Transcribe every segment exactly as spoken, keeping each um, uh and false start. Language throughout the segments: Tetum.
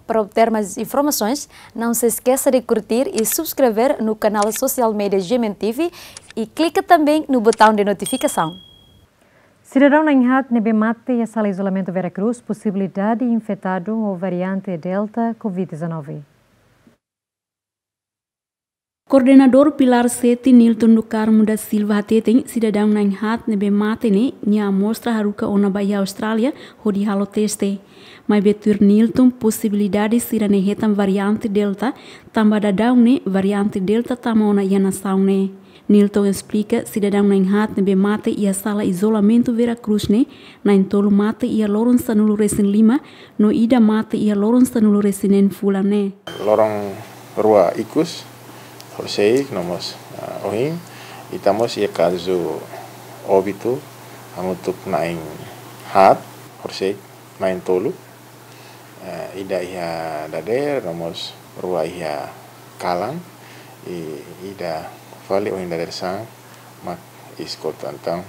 Para obter mais informações, não se esqueça de curtir e subscrever no canal social media G M N T V e clica também no botão de notificação. Sidadaun na'in-haat ne'ebé mate iha sala izolamentu Vera Cruz posibilidade infetadu ho variante Delta covid dezanove. Koordenadór Pilar Sete, Nilton do Carmo da Silva hateten, sidadaun na'in-haat ne'ebé mate ne'e nia amostra haruka ona ba iha Austrália hodi halo teste. Maibé tuir Nilton, posibilidade sira-ne'e hetan variante Delta, tanba daudaun ne'e variante Delta tama ona iha nasaun ne'e. Nilton esplika, sidadaun na'in-haat ne'ebé mate iha sala izolamentu Vera Cruz ne'e, na'in-tolu mate iha loron sanulu-resin-lima, no ida mate iha loron sanulu-resin-neen fulan ne'e. Loron rua ikus, horisehik no mós, ah, ohin, ita mós iha kazu óbitu hamutuk na'in-haat, horisehik na'in-tolu, eh, ida iha dadeer, no mós rua iha kalan, i ida fali ohin dadeer-saan mak iha eskola. Entaun,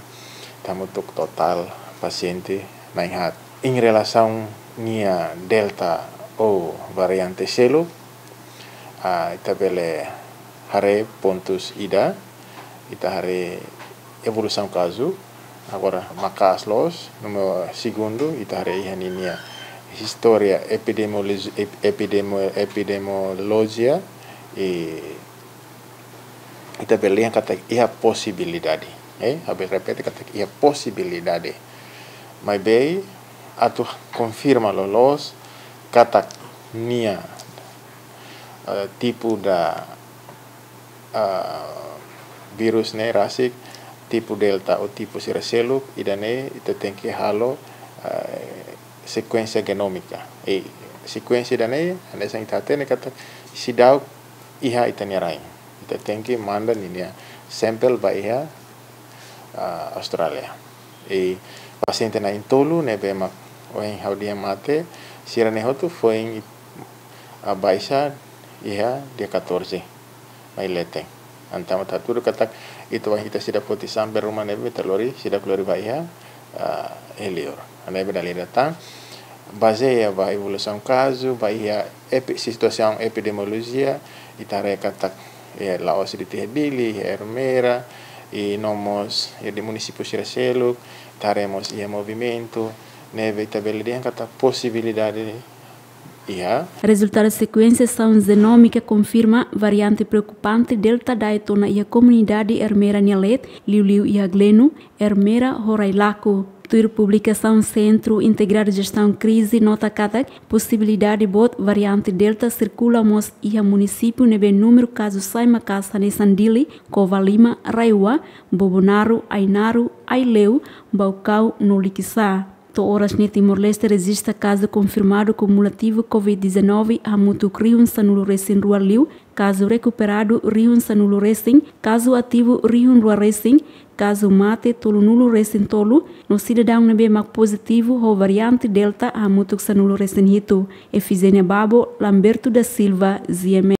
hamutuk totál pasiente na'in-haat. Em relasaun ninia Delta ou variante seluk, ah, ita bele haree pontus ida, ita haree evolusaun kazu, agora maka'as loos, númeru segundu, ita haree iha ninia istória epidemiologi-, ep-, epidemo-, epidemiolojia, i ita bele dehan katak iha posibilidade, eh, ha'u bele repete katak iha posibilidade. Maibé, atu konfirma loloos katak nia, eh, tipu da, eh, vírus ne'e rasik, tipu Delta ou tipu sira seluk, ida-ne'e ita tenke halo, eh, sekuénsia genómika. I sekuénsia ida-ne'e, hanesan ita hatene katak seidauk iha ita-nia rain. Ita tenke manda ninia sampel ba iha, ah, Austrália. I pasiente na'in-tolu ne'ebé mak ohin ha'u dehan mate, sira-ne'e hotu foin, ah, baixa iha dia catorze mai leten. Entaun, ita hatudu katak ita, ita seidauk foti sampel ruma ne'ebé ita lori, seidauk lori ba iha, ah, iha liur. Ne'ebé dala ida tan, bazeia ba evolusaun kazu, ba iha epi-, situasaun epidemiolojia, ita haree katak, eh, la'ós de'it iha Dili, iha Ermera, i no mós iha munisípiu sira seluk, ita haree mós iha movimentu, ne'ebé ita bele dehan katak posibilidade iha. Rezultadu sekuénsiasaun jenómika konfirma variante preokupante Delta da'et ona iha komunidade Ermera nia leet, liuliu iha Gleno, Ermera ho Railaco. Tuir publikasaun Sentru Integradu Jestaun Krize nota katak posibilidade boot variante Delta sirkula mós iha munisípiu ne'ebé númeru kazu sai maka'as hanesan Dili, Covalima, RAEOA, Bobonaro, Ainaro, Aileu, Baucau no Liquiçá. To'o oras ne'e Timor-Leste rejista kazu konfirmadu kumulativu covid dezanove hamutuk rihun sanulu-resin-rua liu, kazu rekuperadu rihun sanulu-resin, kazu ativu rihun rua-resin, kazu mate tolunulu-resin-tolu, no sidadaun ne'ebé mak pozitivu ho variante Delta hamutuk sanulu-resin-hitu. Efigénia Babo, Lamberto da Silva, G M N.